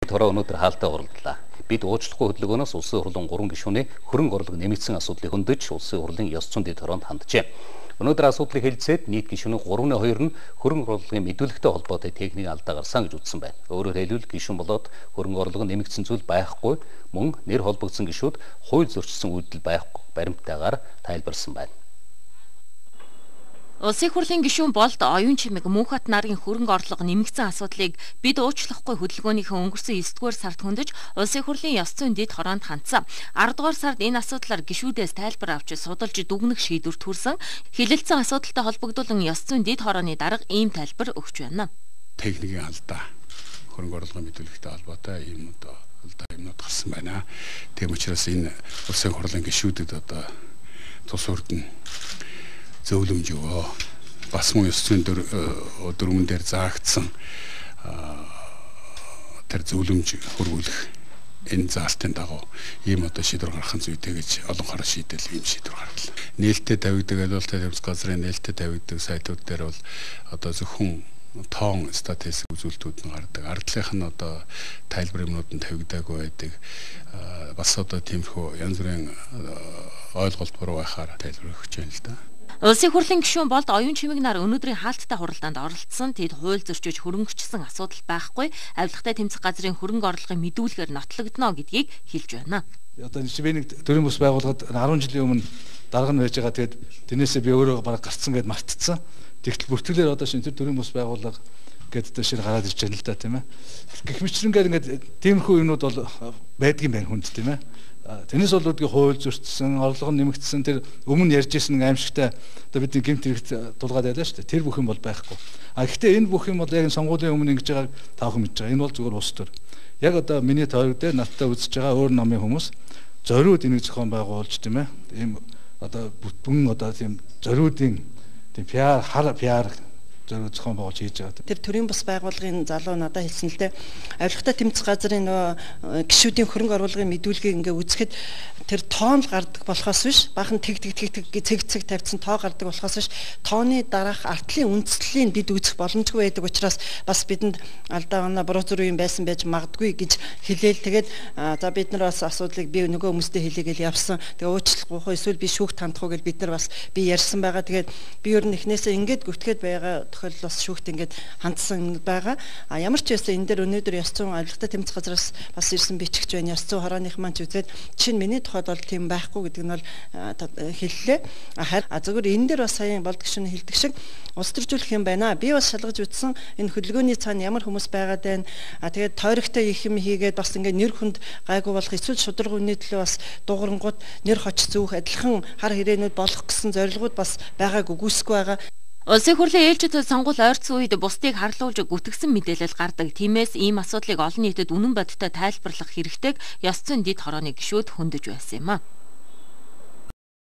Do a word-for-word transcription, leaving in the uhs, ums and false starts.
Тороо өнөөдөр хаалтаа уралдлаа. Бид уучлахгүй хөдөлгөөнөөс улсын хурлын гурван гишүүний хөрөнгө орлого нэмэгдсэн асуудлыг хөндөж улсын хурлын ёс зүйн дэд хороонд ханджээ. Өнөөдөр асуудлыг хэлцээд нийт гишүүний гурван хоёр нь хөрөнгө орлогын мэдүүлэгтэй холбоотой техникийн алдаа гарсан гэж үзсэн байна. Өөрөөр хэлбэл гишүүн болоод хөрөнгө орлого нэмэгдсэн зүйл байхгүй, мөн нэр холбогдсон гишүүд хууль зөрчсөн үйлдэл байхгүй баримттайгаар тайлбарсан байна. Улсын хурлын гишүүн Болд оюун чимэг Мөнхбат нарын хөрөнгө орлого нэмэгдсэн асуудлыг бид уучлахгүй хөдөлгөөнийхөө өнгөрсөн девятдугаар сард хөндөж улсын хурлын ёс зүйн дэд хороонд хандсан. аравдугаар сард энэ асуудлаар гишүүдээс тайлбар авч судалж дүгнэх шийдвэрт хүрсэн. Хилэлцэн асуудалтай холбогдуулан ёс зүйн дэд хорооны дарга ийм тайлбар өгч байна. Техникийн алдаа, хөрөнгө орлогын мэдүүлэгтэй холбоотой ийм одоо алдаа юмнууд гарсан байна. Тийм учраас энэ улсын хурлын гишүүдэд одоо тус урдна зөвлөмж өгөө. Бас мөн ёс зүйн дөрвөн дээр заагдсан тэр зөвлөмж хөрвүүлэх энэ заалтын дагуу ийм одоо шийдвэр гаргахын зүйтэй гэж олон хараа шийдэл ийм шийдвэр гарлаа. Нээлттэй тавигдаг адилхан тэмцэх газрын нээлттэй тавигдаг сайтууд дээр бол одоо зөвхөн тоон статистик үзүүлэлтүүд нь гардаг. Ардлынх нь одоо тайлбар юмнууд нь тавигдаагүй байдаг. Бас одоо тиймэрхүү янз бүрийн ойлголт буруу байхаар тайлбар өгч байна л да. Улсын хурлын гишүүн Болд оюун чимэг нар өнөөдрийн хаалттай хуралдаанд оролцсон. Тэд хууль зөрчиж хөрөнгөчсөн асуудал байхгүй. Авилгатай тэмцэх газрын хөрөнгө орлогын мэдүүлгээр нотлогдно гэдгийг хэлж байна. Одоо би нэг төрийн бус байгууллагад арван жилийн өмнө дарга нь байж байгаа. Тэгээд тэрнээсээ би өөрөө бараг гарцсан гэд мартцсан. Тэгтэл бүртгэлээр одоо шинэ тэр төрийн бус байгууллага гэдэг дээр гараад ирж байна л да, тийм ээ. Гэх мэтлэнгээр ингээд тиймэрхүү юмнууд бол байдгийн байна хүнд, тийм ээ. Тэрнээс бол үүдгийн хууль зөрчсөн, орлого нь нэмэгдсэн, тэр өмнө ярьж ирсэн аимшигтай одоо бидний гэмт хэрэгт дулгаад байлаа шүү дээ. Тэр бүх юм бол байхгүй. А гэхдээ энэ бүх юм бол яг сонгуулийн өмнө ингэж байгааг таахан мэдж байгаа. Энэ бол зүгээр ус төр. Яг одоо миний тойрог дээр надтай үзэж байгаа өөр намын хүмүүс зориуд энийг зохион байгуулж, тийм ээ. Ийм одоо бүтэн одоо тийм зориудын тийм пиар, хар пиар зөв зохион байгуулж хийж байгаа. Тэр төрийн бус байгууллагын залуу надад хэлсэн л дээ. Авилгатай тэмцэх газрын нөгөө гишүүдийн хөрөнгө оруулгын мэдүүлгийг ингээ үзэхэд тэр тоон гардаг болохоос биш, бахан тэг тэг тэг тэг цэг цэг тавьсан тоо гардаг болохоос биш, тооны дараах артлын үндслийг бид үзэх боломжгүй байдаг учраас бас бидэнд алдаа оноо буруу зүрх юм байсан байж магадгүй гэж хэлээл. Тэгээд за бид нар бас асуудлыг би нөгөө хүмүүстэй хэлээгээл явсан. Тэгээ уучлахгүй эсвэл би шүүхт хандахгүй гэж бид нар бас би ярьсан байгаа. Тэгээд би ер нь эхнээсээ ингээд гүтгээд байгаа тохиолдол бас шүүхт ингээд хандсан байгаа. А ямар ч байсан энэ дээр өнөөдөр ёс зүйн авилгатай тэмцэх газраас бас ирсэн бичгч байна. Ёс зүйн хорооных маань ч үзээд чинь миний тухайд бол тийм байхгүй гэдэг нь бол хэллээ. Харин а зөвхөн энэ дээр бас саяхан Болд гишүүн хэлдэг шиг улс төржүүлэх юм байна. Би бас шалгаж үзсэн энэ хөдөлгөөний цаана ямар хүмүүс байгаад байна. А тэгээд тойрогтой их юм хийгээд бас ингээд нэр хүнд гайгүй болох эсвэл шударга үнэ төлөө бас дуурангууд нэр хоч зүүх адилхан хар хэрээнүүд болох гэсэн зорилгууд бас байгааг үгүйсэхгүй байгаа. Улсын хурлын ээлжид сонгуул ойрцсон үед бусдыг харлуулж гүтгсэн мэдээлэл гардаг. Тиймээс ийм асуудлыг олон нийтэд үнэн бодиттой тайлбарлах хэрэгтэйг ёс зүйн дэд хорооны гишүүд хөндөж байсан юм а.